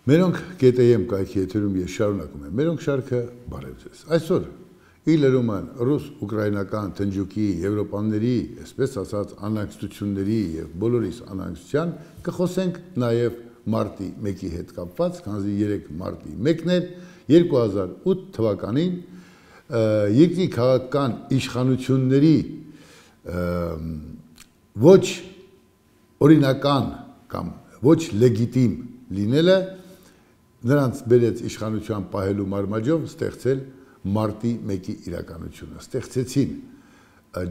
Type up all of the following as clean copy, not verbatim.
Մերոնք GTM կայքի եթերում ես շարունակում եմ, մերոնք շարքը բարև ձեզ։ Այսօր իլերում են ռուս-ուկրաինական թնջուկի, եվրոպաների, այսպես ասած անհանգստությունների եւ բոլորիս անհանգստության կխոսենք նաեւ մարտի 1-ի հետ կապված, քանզի 3 մարտի 1-ն էր 2008 թվականին երկրի քաղաքական իշխանությունների ոչ օրինական կամ ոչ լեգիտիմ լինելը նրանց բերեց իշխանության պահելու մարմաջով ստեղծել մարտի 1-ի իրականությունը, ստեղծեցին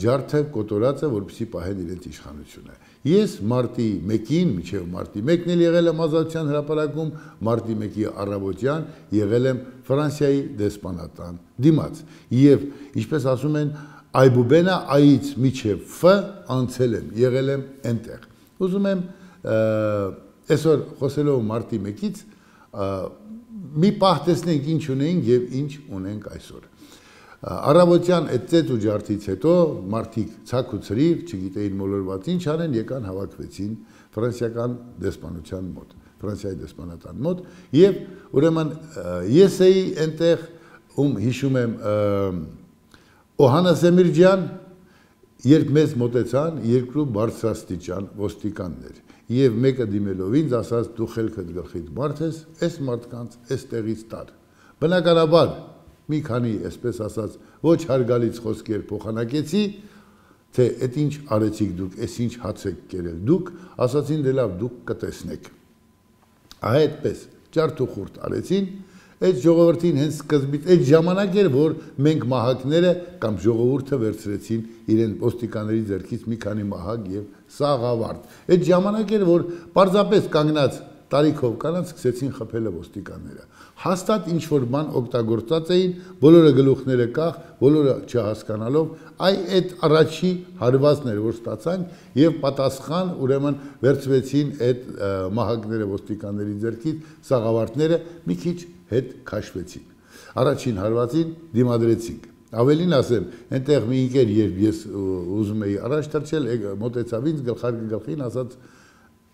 ջարդը, կոտորածը, որպեսզի պահեն իրենց իշխանությունը։ Ես մարտի 1-ին, մինչև մարտի 1-ն էլ եղել եմ Ազատության հրապարակում, մարտի 1-ի առավոտյան եղել եմ Ֆրանսիայի դեսպանատան դիմաց։ Եվ ինչպես ասում են, այբուբենա այից միջև Ֆ անցել եմ, եղել եմ այնտեղ։ Ուզում եմ այսօր խոսելով մարտի 1-ից մի պահ տեսնենք ինչ ունենք եւ ինչ ունենք այսօր։ Առավոտյան այդ ծեծ ու ջարդից հետո մարդիկ ցակ ու ցրիվ, չգիտեին մոլորված ինչ անեն, եկան հավաքվեցին ֆրանսիական դեսպանության մոտ, Ֆրանսիայի դեսպանատան մոտ եւ ուրեմն ես էի այնտեղ ում հիշում եմ Օհանա Սեմիրջյան, երբ մեզ մոտեցան երկու բարձրաստիճան ոստիկաններ եւ մեկը դիմելով ինձ ասաց դու խելքդ գլխիդ մարդ ես, այս մարդկանց այստեղից տար։ Բնականաբար մի քանի, այսպես ասած, ոչ հարգալից խոսքեր փոխանակեցի, թե այդ ինչ արեցիք դուք, այս ինչ հաց եք կերել դուք, ասացին դե լավ դուք կտեսնեք։ Այդպես ջարդ ու խուրտ արեցին, այդ ժողովրդին հենց սկզբից այդ ժամանակ էր, որ մենք մահակները կամ ժողովուրդը վերցրեցին իրեն ոստիկանների ձեռքից մի քանի մահակ եւ սաղավարտ։ Այդ ժամանակ էր, որ պարզապես կանգնած տարիքով կանանց սկսեցին խփել ոստիկանները։ Հաստատ ինչ որ բան օգտագործած էին, բոլորը գլուխները կախ, բոլորը չհասկանալով, այդ առաջի հարվածն էր, որ ստացանք եւ պատասխան ուրեմն վերցվեցին այդ մահակները ոստիկանների ձեռքից, սաղավարտները մի քիչ հետ քաշվեցին։ Առաջին հարվածին դիմադրեցինք։ Ավելին ասեմ, այնտեղ մի ինքեր երբ ես ուզում էի առաջ թռչել, մոտեցավ ինձ գլխին ասաց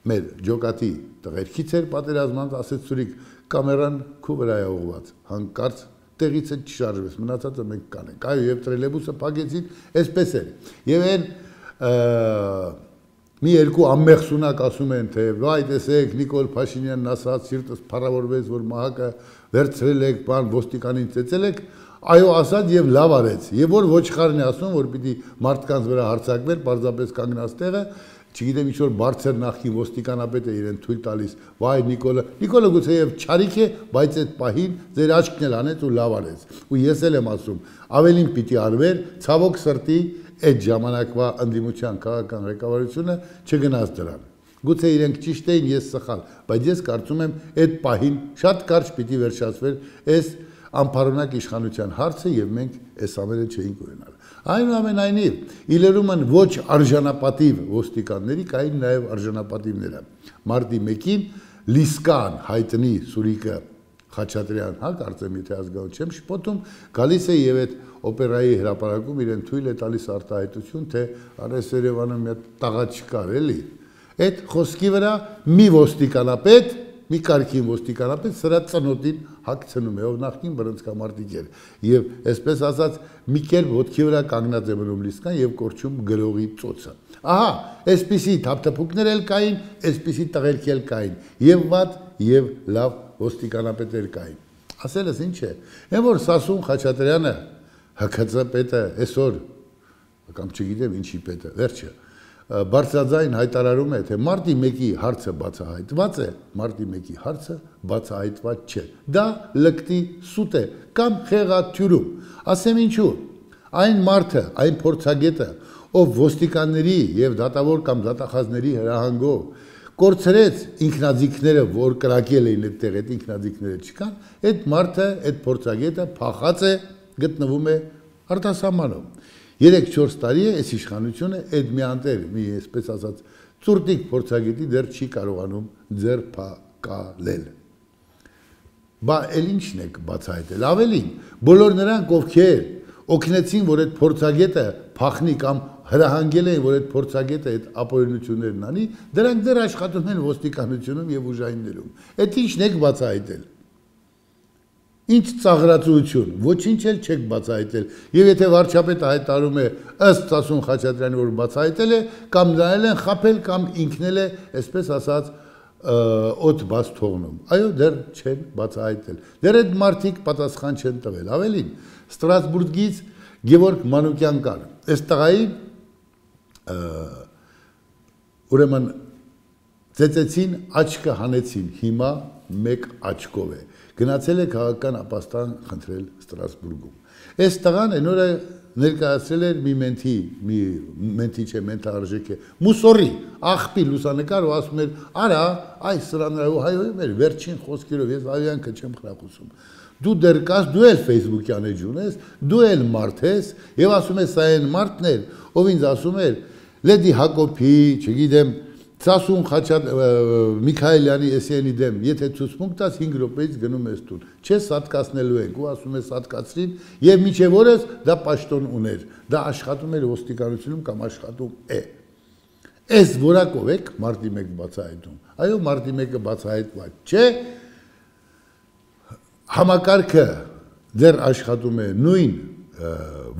մեր ջոկատի տղերքից էր պատերազմած, ասեց Սուրիկ կամերան քու վրա է ուղված, հանկարծ տեղից է չշարժվես, մնացածը մենք կանենք։ Այո, եւ տրելեբուսը փակեցին, այսպես էր։ Եվ այն մի երկու անմեղ սունակ ասում են, թե վայ տեսեք Նիկոլ Փաշինյանն ասաց, սիրտս փառավորվեց, որ մահակը վերցրել եք, բան ոստիկանին ծեծել եք, այո ասաց եւ լավ արեց։ Եվ որ ոչխարն է ասում, որ պիտի մարդկանց վրա հարձակվեր, պարզապես կանգնած տեղը, չգիտեմ ինչ որ բարձր նախկին ոստիկանապետ է իրեն թույլ տալիս, վայ Նիկոլը գուցեև չարիք է, բայց այդ պահին ձեր աչքն էլ անեց ու լավ արեց։ Ու ես էլ եմ ասում, ավելին պիտի արվեր, ցավոք սրտի այդ ժամանակվա ընդդիմության քաղաքական ղեկավարությունը չգնաց դրան։ Գուցե իրենք ճիշտ էին, ես սխալ, բայց ես կարծում եմ այդ պահին շատ կարճ պիտի վերջացվեր այս անփառունակ իշխանության հարցը եւ մենք այս ամենը չէինք ունենալ։ Այնուամենայնիվ, իլերում են ոչ արժանապատիվ ոստիկանների, կային նաեւ արժանապատիվները։ Մարտի 1-ին Լիսկան հայտնի Սուրիկը Խաչատրյան, հա, կարծեմ եթե ազգանուն չեմ շփոթում, գալիս է եւ այդ օպերայի հրապարակում իրեն թույլ է տալիս արտահայտություն, թե արես Երևանում մի տաղա չկար, էլի։ Այդ խոսքի վրա մի ոստիկանապետ, մի կարգին ոստիկանապետ սրա ծնոտին հագցնում է, ով նախքին բռնցքամարտիկ էր։ Եվ այսպես ասած, մի կերպ ոտքի վրա կանգնած է մնում Լիսկան եւ կորչում գրողի ծոցը։ Ահա, այսպիսի թափթփուկներ էլ կային, այսպիսի տղերք էլ կային, եւ վատ եւ լավ ոստիկանապետեր կային։ Ասելս ինչ է։ Այն որ Սասուն Խաչատրյանը ՀՔՑ պետը այսօր կամ չգիտեմ ինչի պետը, վերջը բարձրաձայն հայտարարում է, թե մարտի 1-ի հարցը բացահայտված է, մարտի 1-ի հարցը բացահայտված չէ։ Դա լկտի սուտ է կամ խեղաթյուրում։ Ասեմ ինչու։ Այն մարդը, այն փորձագետը, ով ոստիկանների եւ դատավոր կամ դատախազների հրահանգով կորցրեց ինքնաձիգները, որ կրակել էին այդտեղ, այդ ինքնաձիգները չկան, այդ մարդը, այդ փորձագետը փախած է, գտնվում է արտասահմանում։ 3-4 տարի է այս իշխանությունը այդ մի անտեր, մի այսպես ասած ծուրտիկ փորձագետի դեռ չի կարողանում ձերբակալել։ Բա էլ ինչն եք բացահայտել։ Ավելին, բոլոր նրանք ովքեր օգնեցին, որ այդ փորձագետը փախնի կամ հրահանգել էին, որ այդ փորձագետը այդ ապօրինություններն անի, դրանք դեռ աշխատում են ոստիկանությունում եւ ուժայիններում։ Այդ ի՞նչն եք բացահայտել։ Ինչ ծաղրացություն, ոչինչ էլ չեք բացահայտել։ Եվ եթե վարչապետը հայտարարում է ըստ Սասուն Խաչատրյանի, որ բացահայտել է, կամ նրան են խաբել, կամ ինքն էլ է, այսպես ասած, օդ բաց թողնում։ Այո, դեռ չեն բացահայտել։ Դեռ այդ մարդիկ պատասխան չեն տվել։ Ավելին, Ստրասբուրգից Գևորգ Մանուկյան կար։ Այս տղայի ուրեմն ծեծեցին, աչքը հանեցին, հիմա մեկ աչքով է։ Գնացել է քաղաքական ապաստան խնդրել Ստրասբուրգում։ Այս տղան այն օրը ներկայացրել էր մի մենթի չէ, մենթարժեք է, մուսորի, աղբի լուսանկար ու ասում էր, արա, այս սրանով հայոյում էր վերջին խոսքերով, ես ավյանքը չեմ խրախուսում։ Դու դեռ կաս, դու էլ Facebook-յան էջուն ես, դու էլ մարդ ես, եւ ասում ես սա այն մարդն էր, ով ինձ ասում էր, Լեդի Հակոբի, չգիտեմ, Սասուն Միքայելյանի էսյանի դեմ, եթե ցուցմունք տաս 5 րոպեից գնում ես տուն, չես սատկացնելու ենք, ու ասում ես սատկացրին, եւ միջև օրս դա պաշտոն ուներ, դա աշխատում էր ոստիկանությունում կամ աշխատում է։ Այս որակով եք մարտի 1 բացահայտում։ Այո, մարտի 1-ը բացահայտված չէ, համակարգը դեռ աշխատում է նույն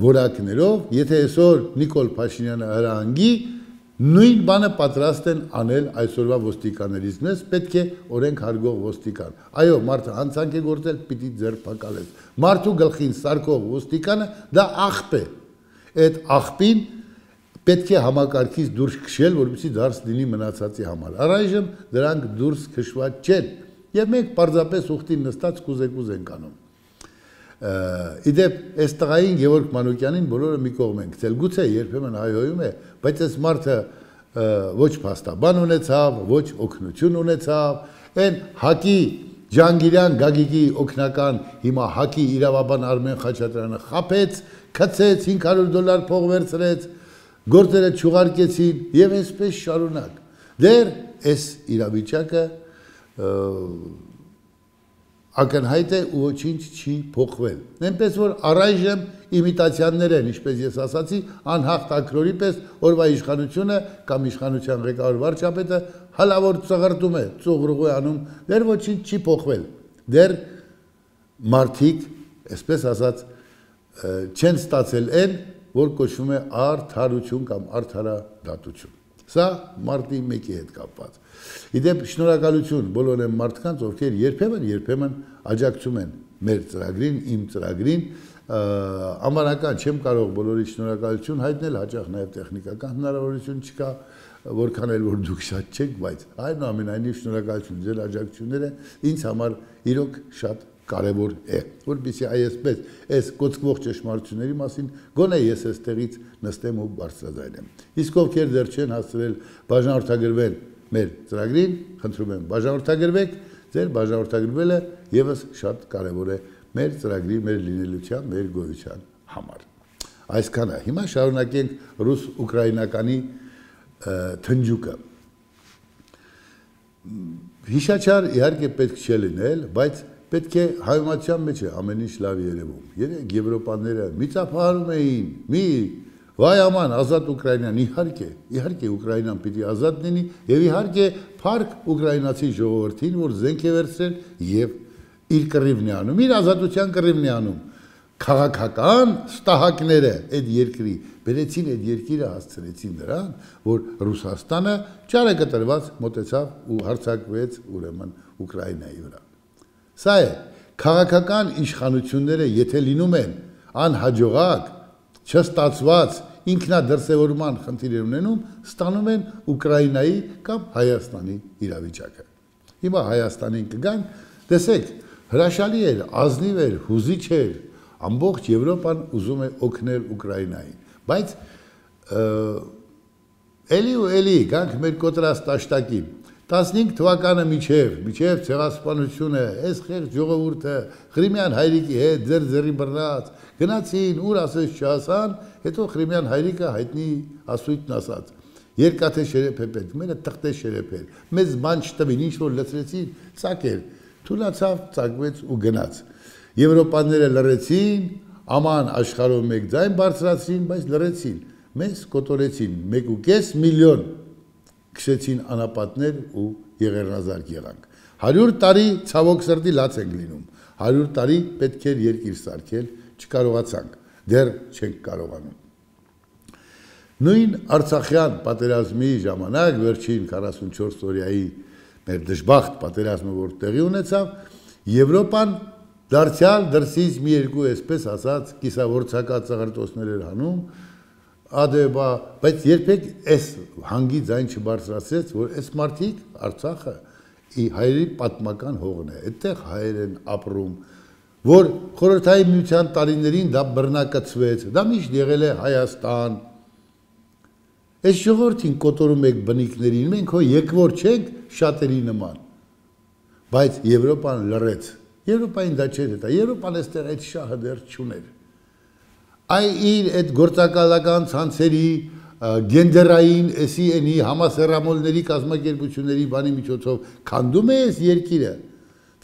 որակներով, եթե այսօր Նիկոլ Փաշինյանը հրահանգի, նույն բանը պատրաստ են անել այսօրվա ոստիկաններից, մեզ պետք է օրենք հարգող ոստիկան։ Այո, մարդը հանցանք է գործել, պիտի ձերբակալես։ Մարդու գլխին սարկող ոստիկանը դա աղբ է։ Այդ աղբին պետք է համակարգից դուրս քշել, որպեսզի դարձ լինի մնացածի համար։ Առայժմ դրանք դուրս քշված չեն, եւ մենք պարզապես ուխտին նստած կուզեկուզ ենք անում։ Իդեպ այս տղային Գևորգ Մանուկյանին բոլորը մի կողմ են գցել, գուցե երբեմն հայհոյում է, բայց այս մարդը ոչ փաստաբան ունեցավ, ոչ օգնություն ունեցավ, այն Հակի Ջանգիրյան Գագիկի օգնական հիմա Հակի իրավաբան Արմեն Խաչատրյանը խաբեց, քցեց, $500 փող վերցրեց, գործերը չուղարկեցին եւ այսպես շարունակ։ Դեռ այս իրավիճակը ակնհայտ է ու ոչինչ չի փոխվել։ Այնպես որ առայժմ իմիտացիաներ են, ինչպես ես ասացի, անհաղթ ակրորի պես օրվա իշխանությունը կամ իշխանության ղեկավար վարչապետը հալավոր ծղրտում է, ծուղրուղ է անում, դեռ ոչինչ չի փոխվել։ Դեռ մարդիկ, այսպես ասած, չեն ստացել այն, որ կոչվում է արդարություն կամ արդարադատություն։ Սա մարտի 1-ի հետ կապված։ Իդեպ շնորհակալություն բոլոր այն մարդկանց, ովքեր երբեմն աջակցում են մեր ծրագրին, իմ ծրագրին, անվանական չեմ կարող բոլորի շնորհակալություն հայտնել, հաճախ նաև տեխնիկական հնարավորություն չկա, որքան էլ որ դուք շատ չեք, բայց այնուամենայնիվ շնորհակալություն, ձեր աջակցությունները ինձ համար իրոք շատ կարևոր է, որպեսզի այսպես այս կոծկվող ճշմարտությունների մասին գոնե ես այստեղից նստեմ ու բարձրաձայնեմ։ Իսկ ովքեր դեռ չեն հասցրել բաժանորդագրվել մեր ծրագրին, խնդրում եմ բաժանորդագրվեք, ձեր բաժանորդագրվելը եւս շատ կարևոր է մեր ծրագրի, մեր լինելության, մեր գոյության համար։ Այսքանը։ Հիմա շարունակենք ռուս-ուկրաինականի թնջուկը։ Հիշաչար իհարկե պետք չէ լինել, բայց պետք է հայրենիության մեջ է ամեն ինչ լավ երևում։ Երեք եվրոպաները միծափահարում էին, վայ աման, ազատ Ուկրաինան, իհարկե Ուկրաինան պիտի ազատ լինի եւ իհարկե փառք ուկրաինացի ժողովրդին, որ զենք է վերցրել եւ իր կռիվն է անում, իր ազատության կռիվն է անում։ Քաղաքական ստահակները այդ երկրի բերեցին այդ երկիրը հասցրեցին նրան, որ Ռուսաստանը ճարակտրված մոտեցավ ու հարձակվեց ուրեմն Ուկրաինայի վրա։ Սա է, քաղաքական իշխանությունները եթե լինում են անհաջողակ, չստացված, ինքնադրսևորման խնդիրներ ունենում, ստանում են Ուկրաինայի կամ Հայաստանի իրավիճակը։ Հիմա Հայաստանին կգան, տեսեք, հրաշալի էր, ազնիվ էր, հուզիչ էր, ամբողջ Եվրոպան ուզում է օգնել Ուկրաինային, բայց էլի ու էլի գանք մեր կոտրած տաշտակին 15 թվականը միջև ցեղասպանությունը, այս խեղճ ժողովուրդը Ղրիմյան հայրիկի հետ ձեր բռնած գնացին, ուր ասես չասան, հետո Ղրիմյան հայրիկը հայտնի ասույթն ասած։ Երկաթե շերեփ է պետք, մենը թղթե շերեփ էր։ Մեզ բան չտվին, ինչ որ լցրեցին, ծակեր։ Թուլացավ, ծակվեց ու գնաց։ Եվրոպաները լռեցին, Աման աշխարհով մեկ ձայն բարձրացրին, բայց լրեցին։ Մեզ կոտորեցին 1.5 միլիոն քշեցին անապատներ ու եղեռնազարկ եղանք։ 100 տարի ցավոք սրտի լաց ենք լինում։ 100 տարի պետք էր երկիր սարքել, չկարողացանք, դեռ չենք կարողանում։ Նույն Արցախյան պատերազմի ժամանակ վերջին 44 օրյայի մեր դժբախտ պատերազմը որ տեղի ունեցավ, Եվրոպան դարձյալ դրսից մի երկու այսպես ասած կիսավորցակած ծաղրտոցներ էր հանում, ադեբա, բայց երբեք այս հանգի ձայն չբարձրացրեց, որ այս մարդիկ Արցախը հայերի պատմական հողն է, այդտեղ հայեր են ապրում, որ խորհրդային միության տարիներին դա բռնակցվեց, դա միշտ եղել է Հայաստան։ Այս ժողովրդին կոտորում եք բնիկներին, մենք հո եկվոր չենք շատերի նման, բայց Եվրոպան լռեց, Եվրոպային դա չէր հետա, Եվրոպան այստեղ այդ շահը դեռ չուներ։ Այ իր այդ գործակալական ցանցերի գենդերային էսի համասեռամոլների կազմակերպությունների բանի միջոցով քանդում է այս երկիրը։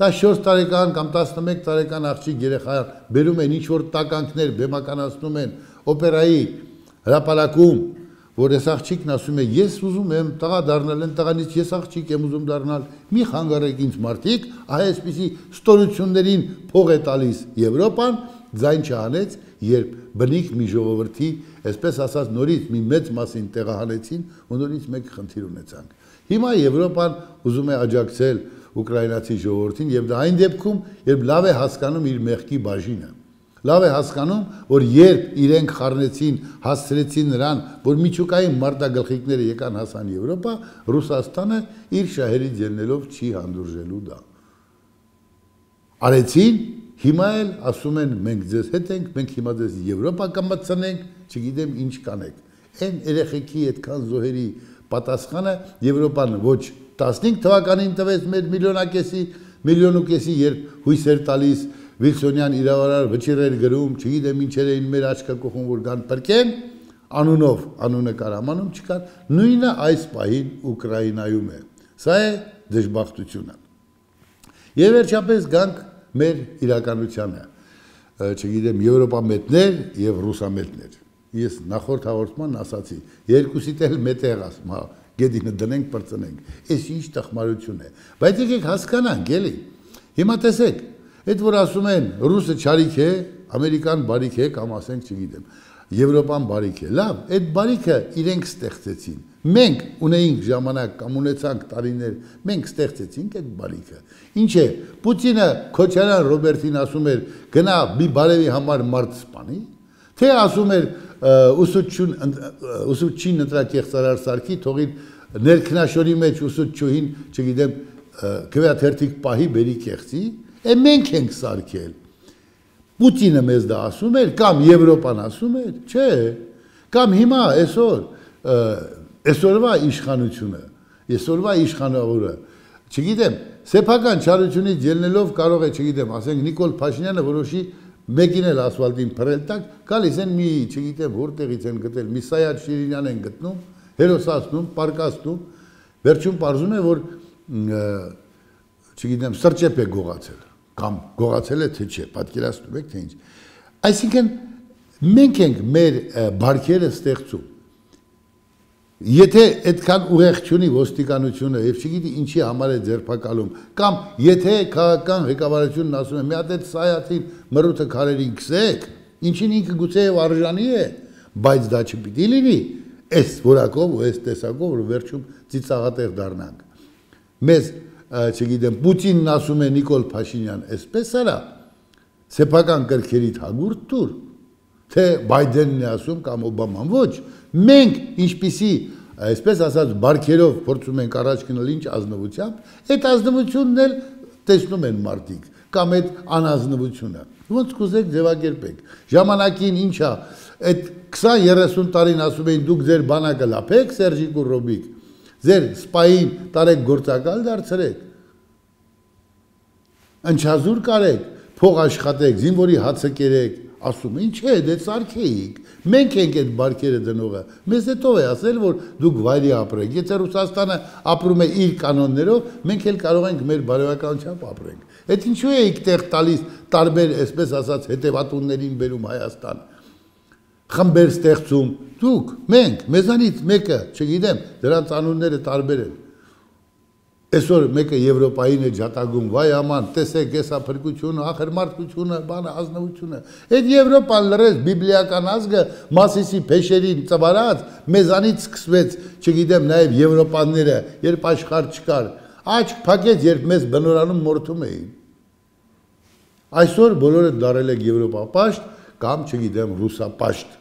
14 տարեկան կամ 11 տարեկան աղջիկ երեխան բերում են ինչ-որ տականքներ, բեմականացնում են օպերայի հրապարակում, որ այս աղջիկն ասում է ես ուզում եմ տղա դառնալ, են տղանից ես աղջիկ եմ ուզում դառնալ, մի խանգարեք ինձ մարդիկ, այսպիսի ստորություններին փող է տալիս Եվրոպան, ձայն չանեց, երբ բնիկ մի ժողովրդի, այսպես ասած նորից մի մեծ մասին տեղահանեցին ու նորից մեկ խնդիր ունեցանք։ Հիմա Եվրոպան ուզում է աջակցել ուկրաինացի ժողովրդին եւ դա այն դեպքում, երբ լավ է հասկանում իր մեղքի բաժինը։ Լավ է հասկանում, որ երբ իրենք խառնեցին, հասցրեցին նրան, որ միջուկային մարտագլխիկները եկան հասան Եվրոպա, Ռուսաստանը իր շահերից ելնելով չի հանդուրժելու դա։ Արեցին, հիմա էլ ասում են մենք ձեզ հետ ենք, մենք հիմա ձեզ Եվրոպա կմտցնենք, չգիտեմ ինչ կանեք։ Այն երեխեքի այդքան զոհերի պատասխանը Եվրոպան ոչ 15 թվականին տվեց մեր միլիոն ու կեսի, երբ հույս էր տալիս Վիլսոնյան իրավարար վճիռեր գրում, չգիտեմ ինչեր էին մեր աչքը կողում, որ կան պրկեն, անունով, անունը կար, ամանում չկար, նույնը այս պահին Ուկրաինայում է։ Սա է դժբախտությունը։ Եվ վերջապես գանք մեր իրականությանը, չգիտեմ, եվրոպամետներ և ռուսամետներ։ Ես նախորդ հաղորդման ասացի, երկուսիդ էլ մետեղ ասում, գեդինը դնենք, պրծնենք, ես ինչ տխմարություն է, բայց եկեք հասկանանք, էլի, հիմա տեսեք, այդ որ ասում են ռուսը չարիք է, ամերիկան բարիք է, կամ ասենք չգիտեմ, Եվրոպան բարիք է, լավ, այդ բարիքը իրենք ստեղծեցին, մենք ունեինք ժամանակ կամ ունեցանք տարիներ, մենք ստեղծեցինք այդ բարիքը, ինչ է, Պուտինը Քոչարյան Ռոբերտին ասում էր, գնա մի բարևի համար մարդ սպանի, թե ասում էր ուսուցչին ընտրակեղծարար սարքի, թողին ներքնաշորի մեջ ուսուցչուհին, չգիտեմ, քվեաթերթիկ պահի բերի կեղծի, մենք ենք սարքել, Պուտինը մեզ դա ասում էր, կամ Եվրոպան ասում էր, չէ, կամ հիմա այսօրվա իշխանությունը, այսօրվա իշխանավորը, չգիտեմ, սեփական չարությունից ելնելով կարող է, չգիտեմ, ասենք Նիկոլ Փաշինյանը որոշի մեկին էլ ասֆալտին փռել տակ, գալիս են մի, չգիտեմ, որտեղից են գտել, մի Սայադ Շիրինյան են գտնում, հերոսացնում, պարկաստում, վերջում պարզում է, որ չգիտեմ, սրճեպ է գողացել, կամ գողացել է թե չէ, պատկերացնում եք թե ինչ։ Այսինքն մենք ենք մեր բարքերը ստեղծում։ Եթե այդքան ուղեղ չունի ոստիկանությունը եւ չգիտի ինչի համար է ձերբակալում, կամ եթե քաղաքական ղեկավարությունն ասում է մի հատ այդ Սայաթին մռութը քարերին քսեք, ինչին ինքը գուցեև արժանի է, բայց դա չպիտի լինի այս որակով ու այս տեսակով, որ վերջում ծիծաղատեղ դառնանք։ Մեզ չգիտեմ, Պուտինն ասում է Նիկոլ Փաշինյան, այսպես արա, սեփական կրքերիդ հագուրդ տուր, թե Բայդենն է ասում կամ Օբաման, ոչ, մենք ինչպիսի, այսպես ասած, բարքերով փորձում ենք առաջ գնալ ինչ ազնվությամբ, այդ ազնվությունն էլ տեսնում են մարդիկ, կամ այդ անազնվությունը, ոնց կուզեք ձևակերպեք, ժամանակին ինչա, այդ 20-30 տարին ասում էին դուք ձեր բանակը լափեք, Սերժիկ ու Ռոբիկ, ձեր սպային տարեք գործակալ դարձրեք, ընչազուր կարեք, փող աշխատեք, զինվորի հացը կերեք, ասում ինչ է, դե սարքեիք, մենք ենք այդ բարգերը դնողը, մեզ հետո է ասել, որ դուք վայրի ապրեք, եթե Ռուսաստանը ապրում է իր կանոններով, մենք էլ կարող ենք մեր բարոյականությամբ ապրենք, այդ ինչու էիք տեղ տալիս տարբեր, այսպես ասած, հետևատուններին բերում Հայաստան, խմբեր ստեղծում, դուք, մենք, մեզանից մեկը, չգիտեմ, դրանց անունները տարբեր են, Այսօր մեկը Եվրոպային է ջատագում, վայ աման, տեսեք եսա փրկությունը, ախրմարտությունը, բանը, ազնվությունը։ Այդ Եվրոպան լրես բիբլիական ազգը Մասիսի փեշերին ծվարած, մեզանից սկսվեց, չգիտեմ, նաև Եվրոպանները, երբ աշխարհ չկար, աչք փակեց, երբ մեզ բնորանում մորթում էին։ Այսօր բոլորը դարել եք Եվրոպապաշտ կամ, չգիտեմ, ռուսապաշտ։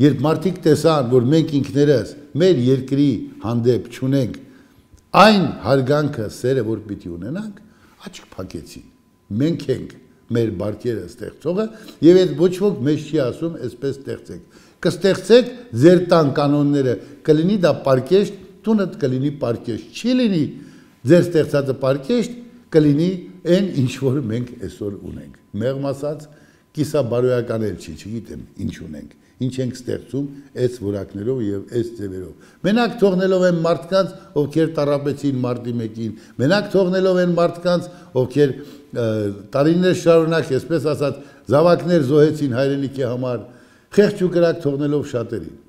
Երբ մարդիկ տեսան, որ մենք ինքներս մեր երկրի հանդեպ չունենք Այն հարգանքը սերը, որ պիտի ունենանք, աչք փակեցին, մենք ենք մեր բարգերը ստեղծողը և այդ ոչ ոք մեզ չի ասում, այսպես ստեղծեք, կստեղծեք ձեր տան կանոնները, կլինի դա պարկեշտ, տունդ կլինի պարկեշտ, չի լինի ձեր ստեղծածը պարկեշտ, կլինի այն ինչ որ մենք այսօր ունենք, մեղմ ասած, կիսաբարոյական էլ չի, չգիտեմ ինչ ունենք, ինչ ենք ստեղծում այս որակներով և այս ձևերով։ Մենակ թողնելով են մարդկանց, ովքեր տառապեցին մարտի 1-ին, մենակ թողնելով են մարդկանց, ովքեր տարիներ շարունակ, այսպես ասած, զավակներ զոհեցին հայրենիքի համար, խեղճ ու կրակ թողնելով շատերին։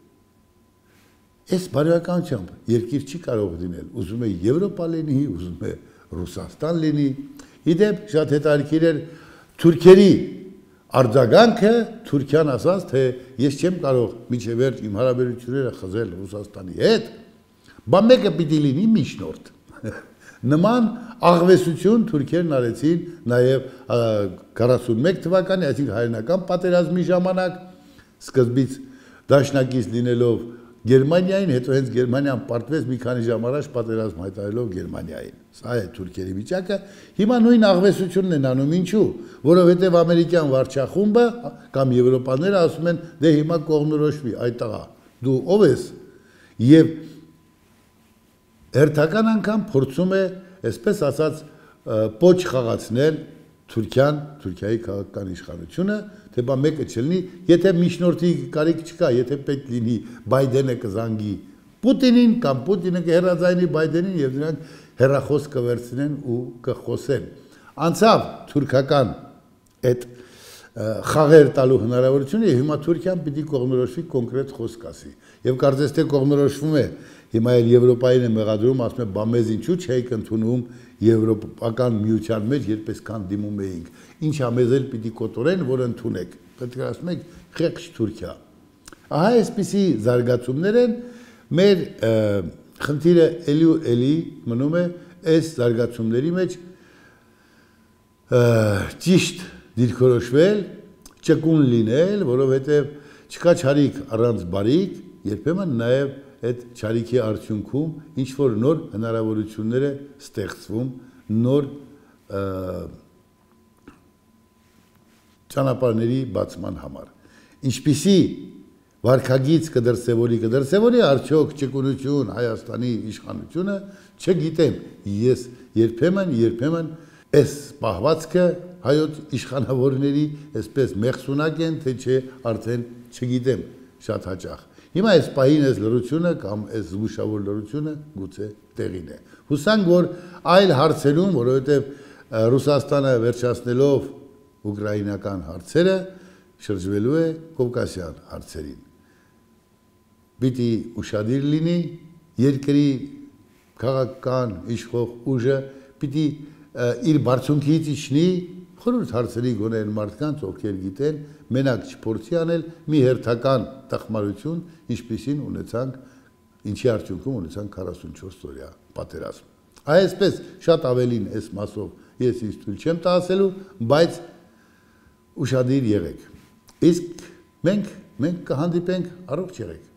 Այս բարոյականությամբ երկիր չի կարող լինել, ուզում է Եվրոպա լինի, ուզում է Ռուսաստան լինի։ Իդեպ շատ հետաքրքիր էր թուրքերի արձագանքը Թուրքիան ասաց, թե ես չեմ կարող մինչև վերջ իմ հարաբերությունները խզել Ռուսաստանի հետ, բան մեկը պիտի լինի միջնորդ։ Նման աղվեսություն թուրքերն արեցին նաև 41 թվականի, այսինքն հայրենական պատերազմի ժամանակ, սկզբից դաշնակից լինելով Գերմանիային, հետո հենց Գերմանիան պարտվեց մի քանի ժամ առաջ պատերազմ հայտարարելով Գերմանիային։ Սա է թուրքերի վիճակը։ Հիմա նույն աղվեսությունն են անում, ինչու, որովհետև ամերիկյան վարչախումբը կամ եվրոպաները ասում են, դե հիմա կողմնորոշվի, այդ տղա, դու ով ես։ Եվ հերթական անգամ փորձում է, այսպես ասած, պոչ խաղացնել Թուրքիան, Թուրքիայի քաղաքական իշխանությունը, թե բա մեկը չլինի, եթե միջնորդի կարիք չկա, եթե պետք լինի Բայդենը կզանգի Պուտինին կամ Պուտինը կհեռաձայնի Բայդենին եւ նրանք հեռախոս կվերցնեն ու կխոսեն։ Անցավ թուրքական այդ խաղեր տալու հնարավորությունը եւ հիմա Թուրքիան պիտի կողմնորոշվի կոնկրետ խոսք ասի։ Եվ կարծես թե կողմնորոշվում է, հիմա էլ Եվրոպային է մեղադրում, ասում է, բա մեզ ինչու չեք ընդունում Եվրոպական միության մեջ, երբ այսքան դիմում էինք։ Ինչա մեզ էլ պիտի կոտորեն, որ ընդունեք։ Պետք է ասում եք, խեղճ Թուրքիա։ Ահա այսպիսի զարգացումներ են, մեր խնդիրը էլի ու էլի մնում է այս զարգացումների մեջ ճիշտ դիրքորոշվել, ճկուն լինել, որովհետև չկա չարիք առանց բարիք, երբեմն նաև այդ չարիքի արդյունքում ինչ-որ նոր հնարավորություններ է ստեղծվում, նոր ճանապարհների բացման համար։ Ինչպիսի վարքագիծ կդրսևորի արդյոք ճկունություն Հայաստանի իշխանությունը, չգիտեմ, ես երբեմն այս պահվածքը հայոց իշխանավորների այսպես մեղսունակ են, թե չէ արդեն չգիտեմ շատ հաճախ։ Հիմա այս պահին այս լրությունը կամ այս զգուշավոր լրությունը գուցե տեղին է։ Հուսանք, որ այլ հարցերում, որովհետև Ռուսաստանը վերջացնելով ուկրաինական հարցերը, շրջվելու է կովկասյան հարցերին։ Պիտի ուշադիր լինի երկրի քաղաքական իշխող ուժը, պիտի իր բարձունքից իջնի, խորհուրդ հարցերի գոնել մարդկանց, ովքեր գիտեն, մենակ չփորձի անել մի հերթական տխմարություն, ինչպիսին ունեցանք, ինչի արդյունքում ունեցանք 44 օրյա պատերազմ։ Այսպես շատ ավելին այս մասով ես ինձ թույլ չեմ տա ասելու, բայց ուշադիր եղեք։ Իսկ մենք կհանդիպենք, առողջ եղեք։